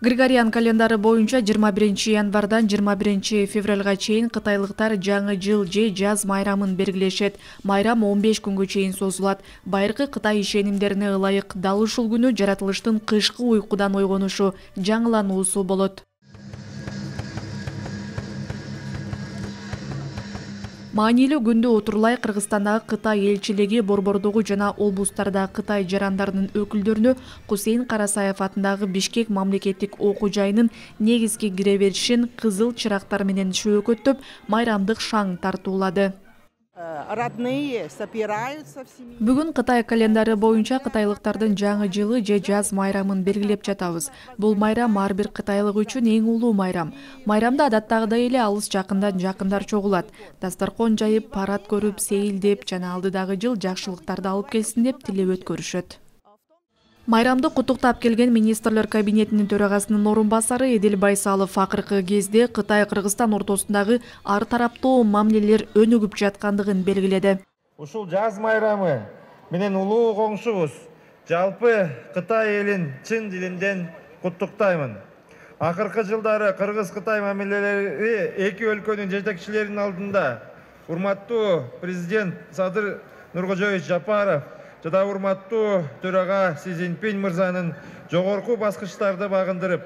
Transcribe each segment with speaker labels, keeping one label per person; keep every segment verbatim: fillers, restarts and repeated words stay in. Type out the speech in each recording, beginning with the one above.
Speaker 1: Григориан календары боюнча жыйырма биринчи январдан жыйырма биринчи февралга чейин кытайлыктар жаңы жыл же жаз майрамын белгилешет. Майрам он беш күнгө чейин созулат. Байыркы Кытай ишенимдерине ылайык дал ушул күнү жаратылыштын кышкы уйкудан ойгонушу, жаңылануусу болот. Маанилүү күндө отурлай Кыргызстандагы Кытай элчилиги борбордугу жана облустардагы Кытай жарандарынын өкүлдөрүнө Кусейин Карасаев атындагы Бишкек мамлекеттик окуу жайынын негизги кире беришин кызыл чырактар менен шөөкөттөп, майрамдык шаң тартуулады. Бүгүн Кытай календары боюнча кытайлыктардын жаңы жылы же жаз майрамын белгилеп жатабыз. Бул майрам ар бир кытайлык үчүн эң улуу майрам. Майрамда адаттагыдай эле алыс жакындан жакындар чогулат. Дасторкон жайып, парад көрүп, сейилдеп жана алдыдагы жыл жакшылыктарды алып келсин деп тилеп өткөрүшөт. Майрамды куттуктап келген министрлер кабинетинин төрагасынын орун басары Эдил Байсалов акыркы кезде Кытай Кыргызстан ортосундагы ар тараптуу мамилелер өнүгүп жаткандыгын белгиледи.
Speaker 2: Ушул жаз майрамы менен улуу коңшубуз жалпы Кытай элин чын дилимден куттуктаймын. Акыркы жылдары Кыргыз-Кытай мамилелери эки өлкөнүн жетекчилеринин алдында урматтуу президент Садыр Нуркожоевич Жапаров жада урматтуу төрага Си Цзиньпин мырзанын жогорку баскычтарды багындырып,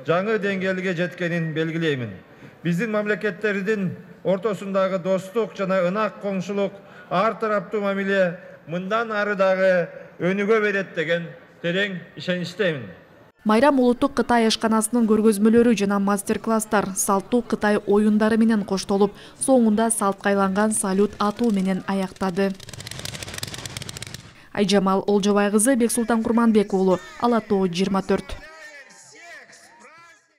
Speaker 2: жаңы деңгээлге жеткенин белгилеймин. Биздин мамлекеттердин ортосундагы достук жана ынак коңшулук, ар тараптуу мамиле мындан ары дагы өнүгө берет деген терең ишеничтемин.
Speaker 1: Майрам улуттук Кытай ашканасынын көргөзмөлөрү жана мастер-класстар, салттуу Кытай оюндары менен коштолуп, соңунда салтка айланган салют атуу менен аяктады. Айжамал Олжобай кызы, Бексултан Курманбек уулу, Ала Тоо жыйырма төрт.